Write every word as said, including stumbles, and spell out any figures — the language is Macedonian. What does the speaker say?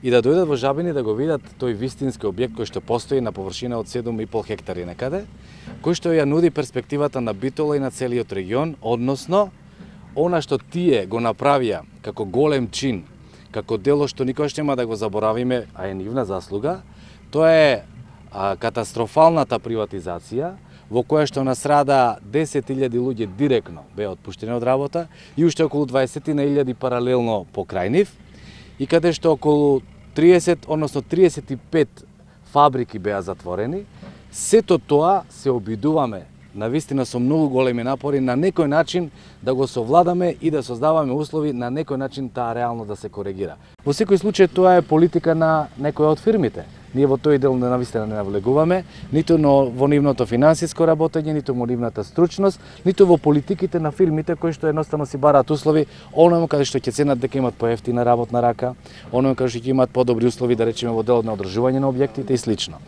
и да дојдат во Жабин и да го видат тој вистински објект кој што постои на површина од седум и пол хектари некаде, кој што ја нуди перспективата на Битола и на целиот регион, односно она што тие го направија како голем чин, како дело што никош нема да го заборавиме, а е нивна заслуга, тоа е а, катастрофалната приватизација во која што насрада десет илјади луѓе директно беа отпуштени од работа и уште околу дваесет илјади паралелно покрај нив, и каде што околу триесет, односно триесет и пет фабрики беа затворени. Сето тоа се обидуваме навистина со многу големи напори на некој начин да го совладаме и да создаваме услови на некој начин таа реално да се коригира. Во секој случај тоа е политика на некоја од фирмите. Ние во тој дел навистина не навлегуваме, ниту во нивното финансиско работење, ниту во нивната стручност, ниту во политиките на фирмите кои што едноставно си бараат услови, оному каде што ќе ценат дека имат поевтина работна рака, оному каде што ќе имаат подобри услови, да речеме во делот на одржување на објектите и слично.